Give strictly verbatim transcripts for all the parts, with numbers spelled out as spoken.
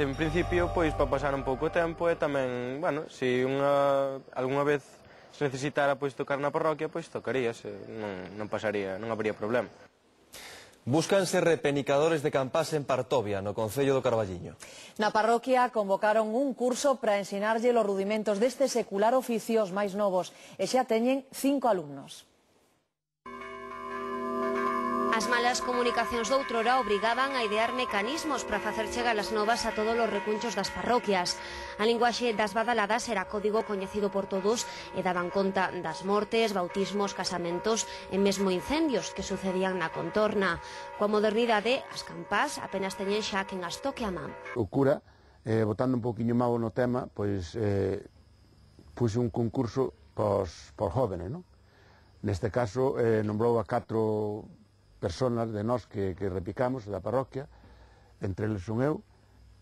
en principio, pois, para pasar un pouco o tempo e tamén, bueno, se unha, algunha vez se necesitara, pois, tocar na parroquia, pois, tocaríase, non, non pasaría, non habría problema. Búscanse repenicadores de campás en Partovia, no concello do Carballiño. Na parroquia convocaron un curso para ensinarlle os rudimentos deste secular oficio aos máis novos e xa teñen cinco alumnos. As malas comunicacións doutrora obrigaban a idear mecanismos para facer chegar as novas a todos os recunchos das parroquias. A linguaxe das badaladas era código coñecido por todos e daban conta das mortes, bautismos, casamentos e mesmo incendios que sucedían na contorna. Coa modernidade, as campás apenas teñen xa quen as toque a man. O cura, eh, botando un pouquiño mau no tema, pois eh, puxe un concurso pos, por jóvenes, non? Neste caso, eh, nombrou a catro personas de nós que, que repicamos da parroquia, entre eles son eu.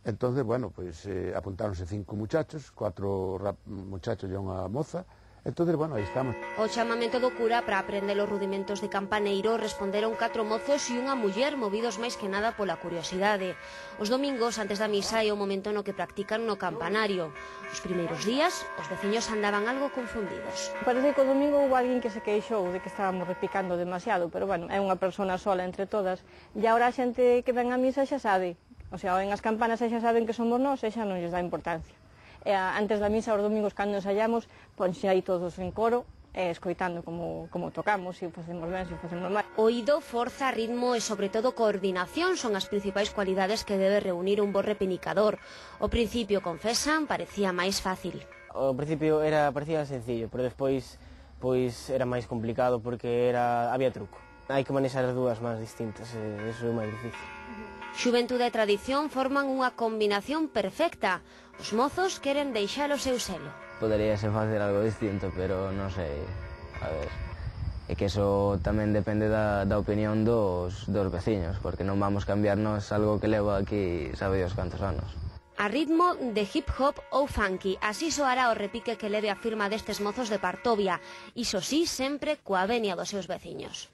Entonces, bueno, pues eh, apuntáronse cinco muchachos, cuatro muchachos e unha moza. Entonces, bueno, aí estamos. O chamamento do cura para aprender os rudimentos de campaneiro responderon catro mozos e unha muller movidos máis que nada pola curiosidade. Os domingos, antes da misa, é o momento no que practican no campanario. Os primeiros días, os veciños andaban algo confundidos. Parece que o domingo houve alguén que se queixou de que estábamos repicando demasiado, pero, bueno, é unha persona sola entre todas. E agora a xente que ven a misa xa sabe. O sea, en as campanas xa saben que somos nós e xa non lles dá importancia. E antes da misa, os domingos, cando ensayamos, ponxe aí todos en coro, e escoitando como, como tocamos, se o facemos ben, se o facemos mal. Oído, forza, ritmo e, sobre todo, coordinación son as principais cualidades que debe reunir un bo repenicador. O principio, confesan, parecía máis fácil. O principio era, parecía sencillo, pero despois pois, era máis complicado porque era, había truco. Hai que manexar as dúas máis distintas, e iso é máis difícil. Xuventude e tradición forman unha combinación perfecta. Os mozos queren deixar o seu selo. Podería ser facer algo distinto, pero non sei, a ver, é que eso tamén depende da, da opinión dos, dos veciños, porque non vamos cambiarnos algo que leva aquí sabe Dios cantos anos. A ritmo de hip hop ou funky, así soará o repique que leve a firma destes mozos de Partovia, iso sí, sempre coa venia dos seus veciños.